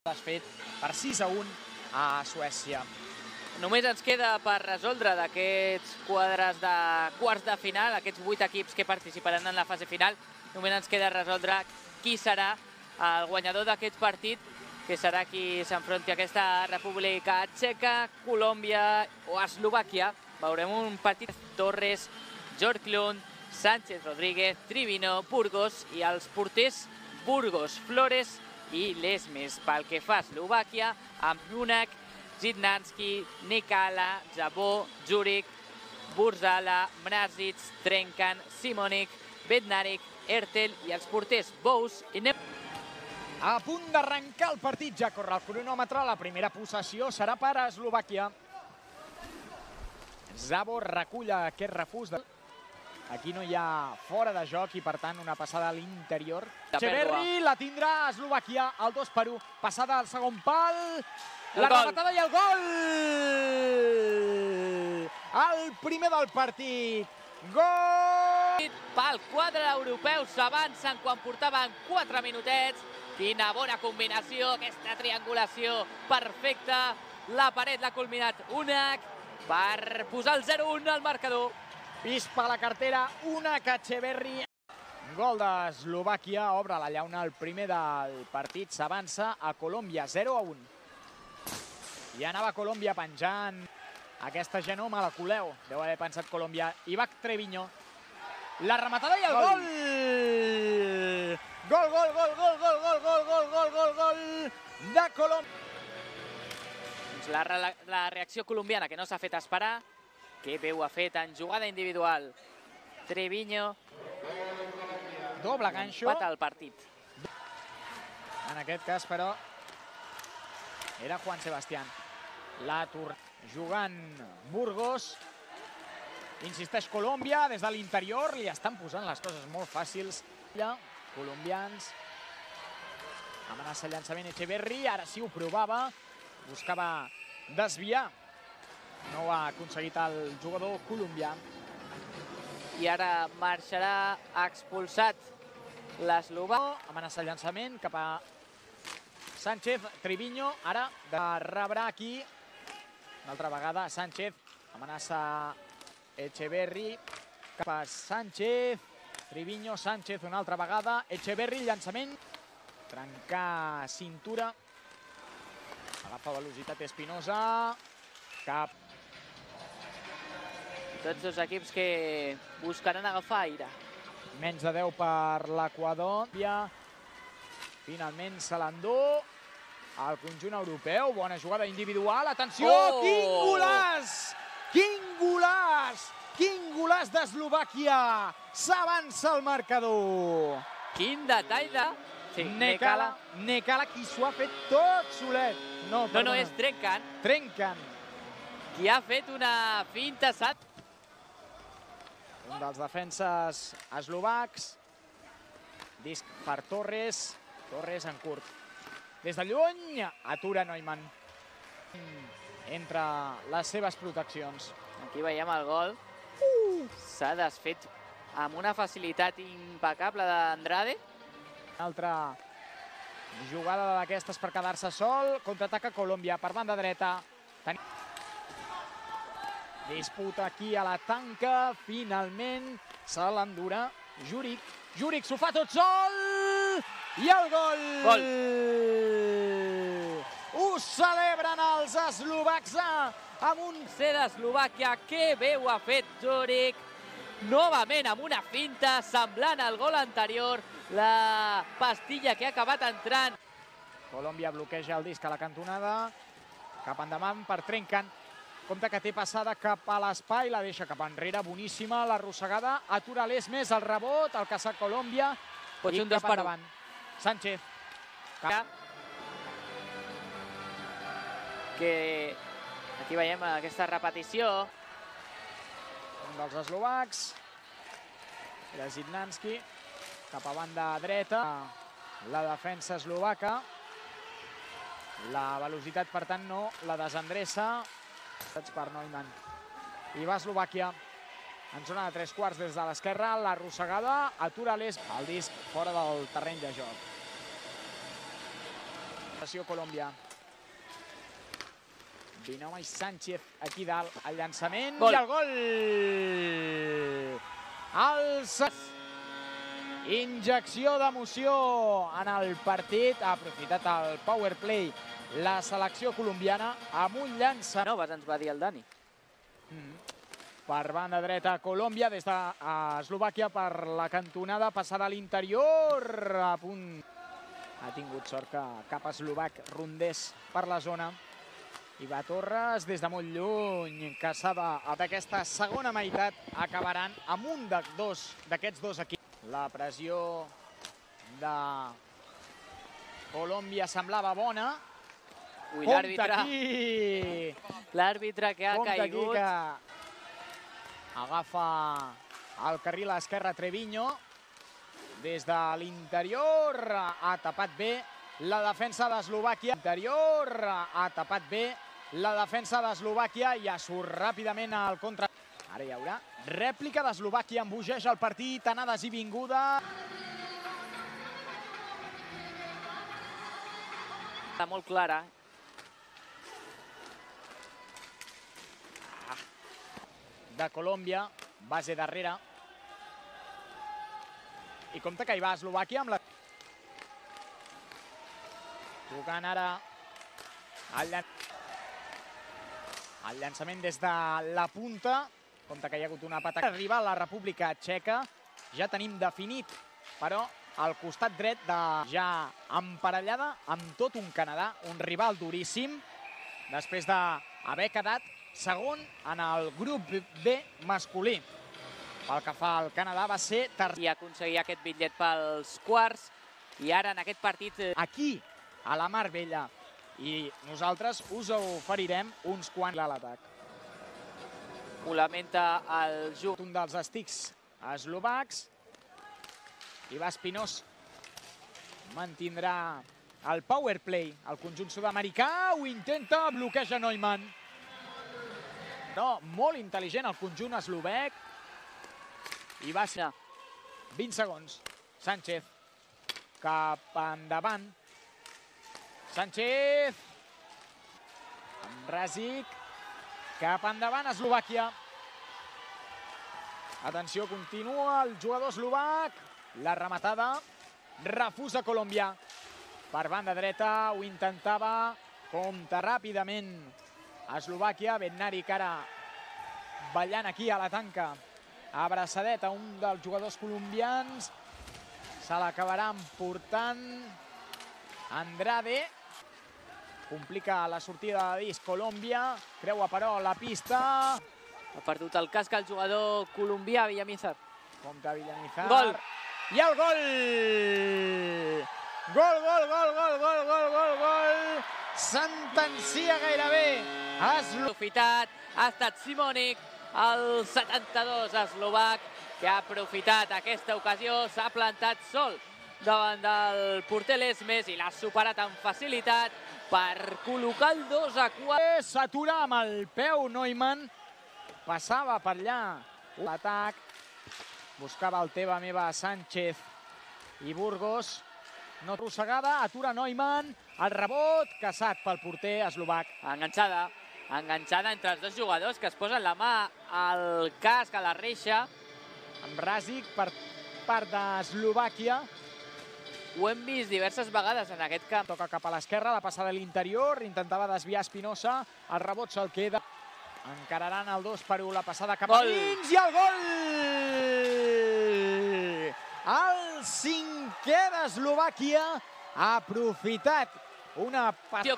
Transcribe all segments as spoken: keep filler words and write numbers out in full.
desfet per sis a un a Suècia. Només ens queda per resoldre d'aquests quadres de quarts de final, aquests vuit equips que participaran en la fase final, només ens queda resoldre qui serà el guanyador d'aquest partit, que serà qui s'enfronti a aquesta República Txeca, Colòmbia o Eslovàquia. Veurem un partit Torres, Björklund, Sánchez Rodríguez, Trivino, Burgos i els porters Burgos, Flores i Lesmes. Pel que fa a Eslovàquia, amb Junak, Zidnanski, Nikala, Zabó, Juric, Burzala, Mrazic, Trenkan, Simonik, Bednarik, Ertel i els porters Bous i Nep. A punt d'arrencar el partit, ja corre el cronòmetre. La primera possessió serà per a Eslovàquia. Zabó recull aquest refús. Aquí no hi ha fora de joc i, per tant, una passada a l'interior. Etxeberri la tindrà Eslovàquia, el dos per u. Passada al segon pal. La rematada i el gol! El primer del partit. Gol! Pel quadre europeu s'avancen quan portaven quatre minutets. Quina bona combinació, aquesta triangulació perfecta. La paret l'ha culminat Junak per posar el zero un al marcador. Pispa la cartera, Junak Etxeberri. Gol d'Eslovàquia, obre la llauna el primer del partit. S'avança a Colòmbia, zero a un. I anava Colòmbia penjant aquesta genoma, la Coleu. Deu haver pensat Colòmbia. Ivac Treviño. La rematada i el gol! Gol, gol, gol, gol, gol, gol, gol, gol, gol, gol, gol de Colòmbia. La, la reacció colombiana que no s'ha fet esperar. Que bé ho ha fet en jugada individual. Treviño. Doble ganxo. Empata el partit. En aquest cas, però, era Juan Sebastián. La Tour jugant Burgos. Insisteix Colòmbia, des de l'interior li estan posant les coses molt fàcils. Colombians. Amenaça el llançament Etxeberri, ara sí ho provava. Buscava desviar. No ho ha aconseguit el jugador colombià. I ara marxarà expulsat l'eslovà. Amenaça el llançament cap a Sánchez, Triviño. Ara de rebre aquí. Una altra vegada Sánchez. Amenaça Etxeberri cap a Sánchez. Triviño, Sánchez una altra vegada. Etxeberri, llançament. Trencar cintura. Agafa velocitat Espinosa. Cap. Tots dos equips que buscaran agafar aire. Menys de deu per l'Equador. Finalment se l'endú el conjunt europeu. Bona jugada individual. Atenció! Oh! Quin golaç! Quin golaç! Quin golaç d'Eslovàquia! S'avança el marcador. Quin detall de... Sí, Nekala. Nekala, qui s'ho ha fet tot solet. No, no, no, és Trenkan. Trenkan. Qui ha fet una finta sat. Un dels defenses eslovacs. Disc per Torres. Torres en curt. Des de lluny, atura Neumann. Entre les seves proteccions. Aquí veiem el gol. S'ha desfet amb una facilitat impecable d'Andrade. Una altra jugada d'aquestes per quedar-se sol. Contraataca Colòmbia per banda dreta. Disputa aquí a la tanca. Finalment se l'endurà Juric. Juric s'ho fa tot sol! I el gol! Gol! Ho celebren els eslovacs amb un C d'Eslovàquia. Que bé ho ha fet Juric. Novament amb una finta semblant al gol anterior. La pastilla que ha acabat entrant. Colòmbia bloqueja el disc a la cantonada. Cap endavant per Trenkan. Compte que té passada cap a l'espai, la deixa cap enrere, boníssima, l'arrossegada, atura l'Esmes, el rebot, el caçat Colòmbia, pot ser un dos per davant. Sánchez. Que aquí veiem aquesta repetició. Un dels eslovacs, era Zidnanski, cap a banda dreta, la defensa eslovaca. La velocitat, per tant, no la desendreça. Per Neumann. I va Eslovàquia en zona de tres quarts des de l'esquerra, l'arrossegada, atura l'Es, el disc fora del terreny de joc. Pressió Colòmbia. Vinoma i Sánchez aquí dalt, el llançament gol. I el gol! El... Injecció d'emoció en el partit, ha aprofitat el power play la selecció colombiana amb un llança. No, ens va dir el Dani. Mm. Per banda dreta Colòmbia, des d'Eslovàquia per la cantonada, passada a l'interior, a punt. Ha tingut sort que cap eslovac rondés per la zona. I va Torres des de molt lluny, que s'ha d'aquesta segona meitat acabaran amb un d'aquests dos equips. La pressió de Colòmbia semblava bona. Ui, l'àrbitre. Aquí! L'àrbitre que ha Compte caigut. Aquí que agafa el carril a l'esquerra Treviño. Des de l'interior ha tapat bé la defensa d'Eslovàquia. Interior ha tapat bé la defensa d'Eslovàquia i ja surt ràpidament al contra. Ara hi haurà rèplica d'Eslovàquia, embogeja el partit, anades i vinguda. Està molt clara. De Colòmbia, base darrere. I compte que hi va Eslovàquia amb la... Tocant ara el, llan... el llançament des de la punta. Compte que hi ha hagut una pata. Arriba a la República Txeca. Ja tenim definit, però, al costat dret de ja emparellada amb tot un Canadà, un rival duríssim, després d'haver quedat segon en el grup B masculí. Pel que fa al Canadà va ser tercer. I aconseguir aquest bitllet pels quarts. I ara en aquest partit... Aquí, a la Mar Bella. I nosaltres us oferirem uns quants a l'atac. Ho lamenta el jugador. Un dels estics eslovacs. I va Espinós. Mantindrà el power play. El conjunt sud-americà ho intenta, bloqueja Neumann. No, molt intel·ligent el conjunt eslovec. I va ser vint segons. Sánchez cap endavant. Sánchez amb Rasic cap endavant, Eslovàquia. Atenció, continua el jugador eslovac. La rematada refusa Colòmbia. Per banda dreta ho intentava, compta ràpidament Eslovàquia. Bednari que ara ballant aquí a la tanca. Abraçadet a un dels jugadors colombians. Se l'acabarà emportant Andrade. Complica la sortida de disc Colòmbia. Creua però la pista. Ha perdut el casc el jugador colombià, Villamizar. Compte Villamizar. Gol! I el gol! Gol, gol, gol, gol, gol, gol, gol, gol! Sentencia gairebé. Aprofitat, ha estat Simonic, el setanta-dos eslovac, que ha aprofitat aquesta ocasió, s'ha plantat sol davant del porter Lesmes i l'ha superat amb facilitat per col·locar el dos a quatre. S'atura amb el peu Neumann, passava per allà l'atac, buscava el teva meva Sánchez i Burgos, no arrossegada, atura Neumann, el rebot caçat pel porter eslovac. Enganxada, enganxada entre els dos jugadors que es posen la mà al casc, a la reixa. Amb Rasic per part d'Eslovàquia. Ho hem vist diverses vegades en aquest camp. Toca cap a l'esquerra, la passada a l'interior, intentava desviar Espinosa, el rebot se'l queda. Encararan el dos per u, la passada cap a dins i el gol! El cinquè d'Eslovàquia ha aprofitat una...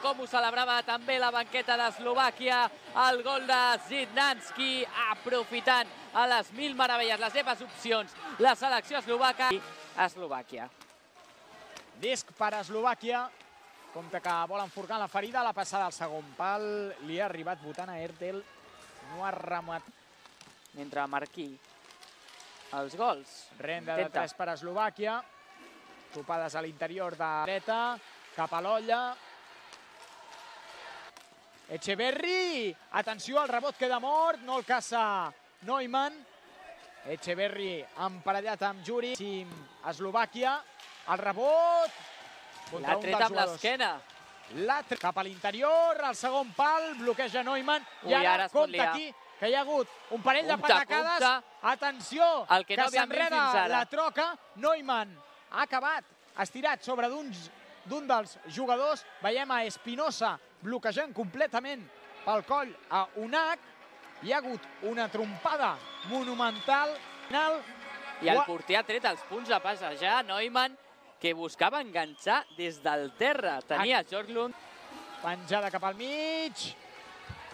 Com ho celebrava també la banqueta d'Eslovàquia, el gol de Zidnanski, aprofitant a les mil meravelles les seves opcions, la selecció eslovaca. Eslovàquia. Disc per Eslovàquia, compte que vol enforcar la ferida, la passada al segon pal, li ha arribat votant a Ertel, no ha remat. Mentre Marquí els gols. Renda de tres per Eslovàquia, topades a l'interior de dreta, cap a l'olla. Echeverri, atenció, el rebot queda mort, no el caça Neumann. Echeverri emparellat amb Juri, Eslovàquia. El rebot l'ha tret amb l'esquena. La cap a l'interior, el segon pal, bloqueja Neumann. I ara compta aquí que hi ha hagut un parell de patacades. Atenció, que s'enreda la troca. Neumann ha acabat estirat sobre d'un dels jugadors. Veiem a Espinosa bloquejant completament pel coll a Unach. Hi ha hagut una trompada monumental. I el porter ha tret els punts a passejar. Neumann, que buscava enganxar des del terra. Tenia Bjorklund. Penjada cap al mig.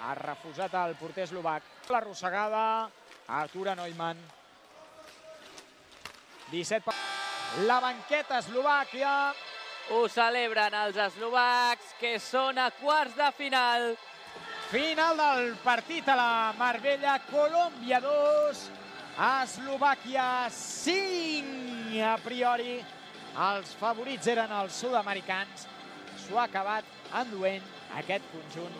Ha refusat el porter eslovac. L'arrossegada. Atura Neumann. disset. La banqueta eslovàquia. Ho celebren els eslovacs, que són a quarts de final. Final del partit a la Marbella. Colòmbia dos. Eslovàquia cinc. A priori, els favorits eren els sud-americans. S'ho ha acabat enduent aquest conjunt